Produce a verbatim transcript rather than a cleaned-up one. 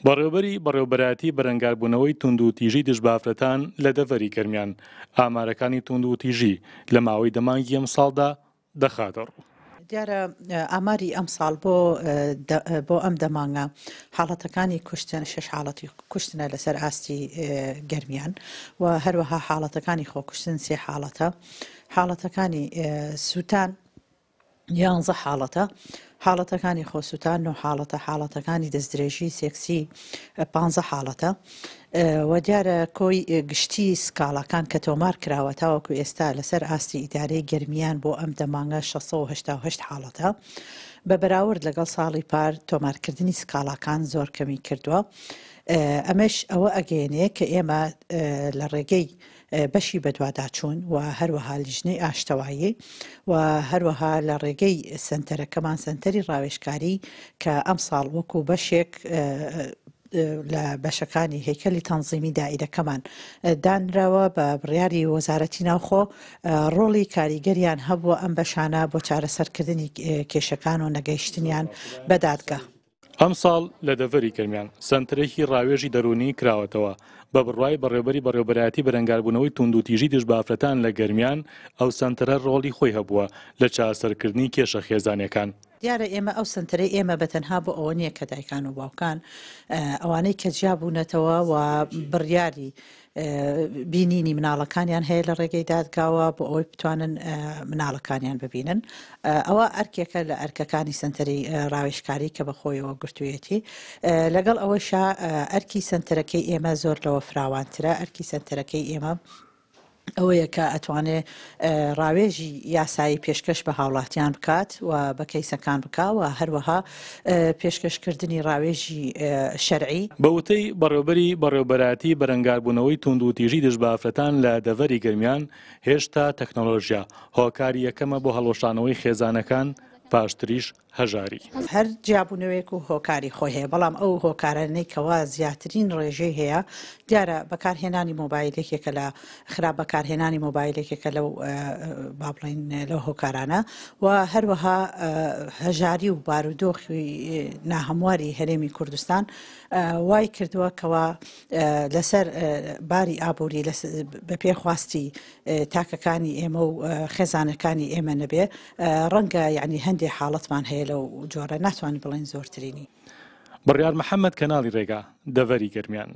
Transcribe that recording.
بەڕێوبەری بەڕێوبەرایەتی بەرەنگاربوونەوەی توندوتیژی دژ بە ئافرەتان لە دەڤەری گەرمیان ئامارەکانی توندوتیژی لە ماوەی دە مانگی ئەمساڵدا دەخاتە ڕوو. دیارە ئاماری ئەمساڵ بۆ بۆ ئەم دە مانگە حاڵەتەکانی کوشتن شەش حاڵەتی کوشتنە لەسەر ئاستی گەرمیان و هەروەها حاڵەتەکانی خۆکوشتن سێ حاڵەتە، حاڵەتەکانی سووتان یانزە حاڵەتە، حاڵەتەکانی خۆسووتان نۆ حاڵەتە، حاڵەتەکانی دەستدرێژی سێکسی پانزە حاڵەتە و دیارە کۆی گشتی سکاڵاکان کە تۆمار کراوە تاوەکو ئێستا لەسەر ئاستی ئیدارەی گەرمیان بۆ ئەم دە مانگە شەش سەد و هەشتا و هەشت حاڵەتە. بە بەراورد لەگەڵ ساڵی پار تۆمارکردنی سکاڵاکان زۆر کەمی کردووە. ئەمەش ئەوە ئەگەیەنێ کە ئێمە لە ڕێگەی بەشی بەدواداچوون و هەروەها لیژنەی ئاشتەوایی و هەروەها لە ڕێگەی سنتەرەکەمان سنتەری ڕاوێژکاری کە ئەمساڵ وەکو بەشێک لە بەشەکانی هەیکەلی تەنزیمی دائیرەکەمان دانراوە بە بڕیاری وەزارەتی ناوخۆ ڕۆڵی کاریگەریان هەبووە ئەم بەشانە بۆ چارەسەرکردنی کێشەکان و نەگەیشتنیان بە دادگا. ئەمساڵ لە دەڤەری گەرمیان سەنتەرێکی ڕاوێژی دەروونی کراوەتەوە. بە بڕوای بەڕێوبەری بەڕێوبەرایەتی بەرەنگاربوونەوەی توندوتیژی دژ بە ئافرەتان لە گەرمیان ئەو سەنتەرە ڕۆڵی خۆی هەبووە لە چارەسەرکردنی کێشە خێزانیەکان. دیارە ئێمە ئەو سەنتەرەی ئێمە بەتەنها بۆ ئەوە نییە کە دایکان و باوکان ئەوانەی کە جیابوونەتەوە و بڕیاری بینینی مناڵەکانیان هەیە لە ڕێگەی دادگاوە بۆ ئەوەی بتوانن مناڵەکانیان ببینن. ئەوە ئەرکێکە لە ئەرکەکانی سەنتەری ڕاوێژکاری کە بەخۆیەوە گرتوویەتی. لەگەڵ ئەوەشا ئەرکی سەنتەرەکەی ئێمە زۆر لەوە فراوانترە. ئەرکی سەنتەرەکەی ئێمە ئەوەیە کە ئەتوانێ ڕاوێژی یاسایی پێشکەش بە هاوڵاتیان بکات و بە کەیسەکان بکا و هەروەها پێشکەشکردنی ڕاوێژی شەرعی. بە وتەی بەڕێوبەری بەڕێوبەرایەتی بەرەنگاربوونەوەی توندوتیژی دژ بە ئافرەتان لە دەڤەری گەرمیان هێشتا تەکنۆلۆژیا هۆکاری یەکەمە بۆ هەڵوەشانەوەی خێزانەکان، پاشتریش هەژاری. هەر جیابوونەوەیەک و هۆکاری خۆی هەیە، بەڵام ئەو هۆکارانەی کەوا زیاترین ڕێژەی هەیە دیارە بەکارهێنانی مۆبایل یەکێکە لە خراپ بەکارهێنانی مۆبایل یەکێکە لەو با بڵێین لەو هۆکارانە و هەروەها هەژاری و بارودۆخی ناهەمواری هەرێمی کوردستان وای کردووە کەوا لەسەر باری ئابووری بە پێخواستی تاکەکانی ئێمە و خێزانەکانی ئێمە نەبێ ڕەنگە یعنی هەندێک حاڵەتمان هەیە لەو جۆرە ناتوانین بڵێن زۆرترینی. بڕیار محەممەد، کەناڵی ڕێگا، دەڤەری گەرمیان.